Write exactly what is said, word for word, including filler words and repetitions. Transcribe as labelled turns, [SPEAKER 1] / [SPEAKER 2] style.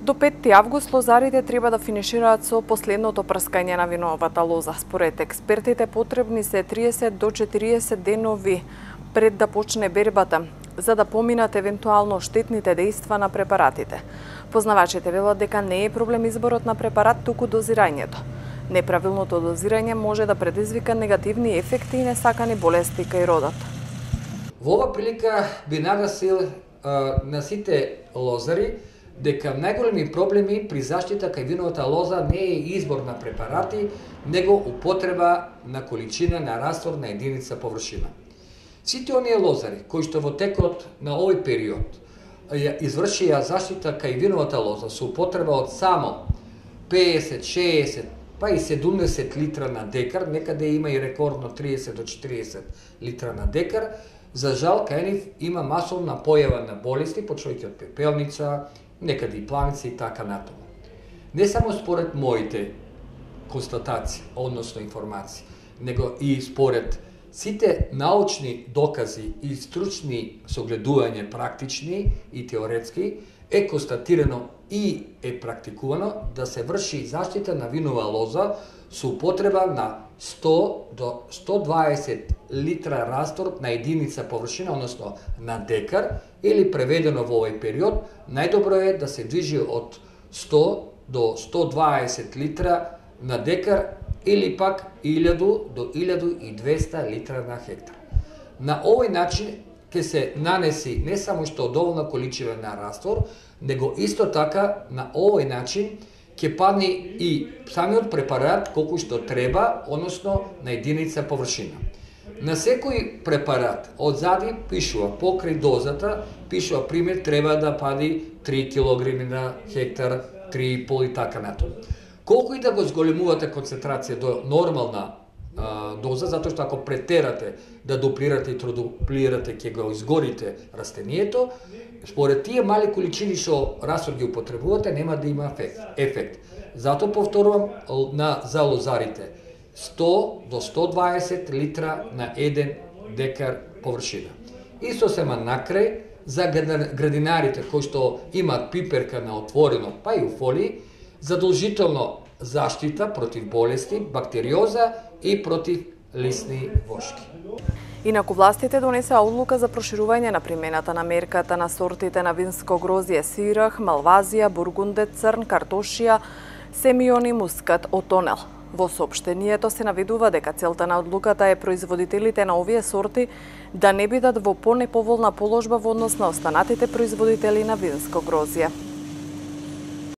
[SPEAKER 1] До петти август лозарите треба да финишираат со последното прскање на виновата лоза. Според експертите потребни се триесет до четириесет денови пред да почне бербата, за да поминат евентуално штетните дејства на препаратите. Познавачите велат дека не е проблем изборот на препарат, туку дозирањето. Неправилното дозирање може да предизвика негативни ефекти и несакани болести кај родот.
[SPEAKER 2] Во ова прилика би нагасил а, на сите лозари дека најголеми проблеми при заштита кај виновата лоза не е избор на препарати, него употреба на количина на раствор на единица површина. Сите оние лозари кои што во текот на овој период ја извршија заштита кај виновата лоза со употреба од само песет, шеесет, па и седумдесет литра на декар, некаде има и рекордно триесет до четириесет литра на декар, за жал кај нив има масовна појава на болести, почнувајќи од пепелница, некаде и планица и така натаму. Не само според моите констатации, односно информации, него и според сите научни докази и стручни согледувања практични и теоретски, е констатирано и е практикувано да се врши заштита на винова лоза со употреба на сто до сто дваесет литра раствор на единица површина, односно на декар, или преведено во овој период, најдобро е да се движи од сто до сто дваесет литра на декар или пак илјаду до илјаду и двесте литра на хектар. На овој начин ќе се нанеси не само што доволна количина на раствор, него исто така на овој начин ќе падне и самиот препарат колку што треба, односно на единица површина. На секој препарат одзади пишува покрај дозата, пишува пример треба да пади три килограми на хектар, три и пол и така натаму. Колку и да го зголемувате концентрација до нормална а, доза, затоа што ако претерате да дуплирате и тродуплирате, ќе го изгорите растението, според тие мали количини што раствор ги употребувате, нема да има ефект. ефект. Затоа повторувам на за лозарите сто до сто дваесет литра на еден декар површина. И сосема накрај за градинарите кои што имаат пиперка на отворено, па и у фолии, задолжително заштита против болести, бактериоза и против лисни вошки.
[SPEAKER 1] Инаку властите донесеа одлука за проширување на примената на мерката на сортите на винско грозје Сирах, Малвазија, Бургундет, Црн, Картошија, Семион и Мускат Отонел. Во соопштението се наведува дека целта на одлуката е производителите на овие сорти да не бидат во понеповолна положба во однос на останатите производители на винско грозје.